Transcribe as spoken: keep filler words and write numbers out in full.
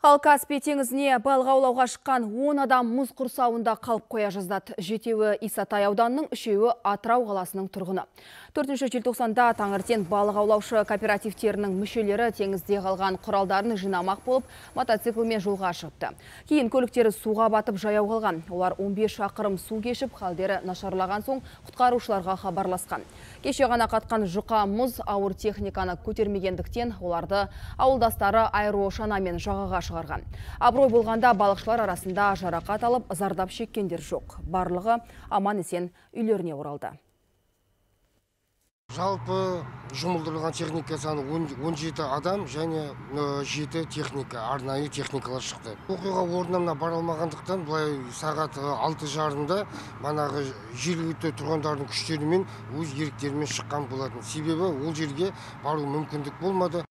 Ал Каспий теңізіне балық аулауға шыққан он адам мұз құрсауында қалып қоя жаздады. Жетеуі Исатай ауданының, үшеуі Атырау қаласының тұрғыны. төртінші желтоқсанда таңертең балық аулаушы кооперативтерінің мүшелері теңізде қалған құралдарын жинамақ болып, мотоциклмен жолға шығыпты. Кейін көліктері суға батып жаяу қалған. Олар он бес шақырым су кешіп, халдері нашарлаған соң құтқарушыларға хабарласқан. Кеше ғана қатқан жұқа мұз ауыр техниканы көтермегендіктен оларды ауылдастары аэрошанамен жағаға шығарған. Абырой болғанда балықшылар арасында жарақат алып, зардап шеккендер жоқ. Барлығы аман есен үйлеріне оралды. Жалпы жұмылдырылған техника саны он жеті адам және жеті техника, арнайы техникалар шықты. Оқиға орнына бара алмағандықтан былай сағат алты жарымда манағы жергілікті тұрғындардың күштерімен өз еріктерімен шыққан болатын. Себебі ол жерге бару мүмкіндік болмады.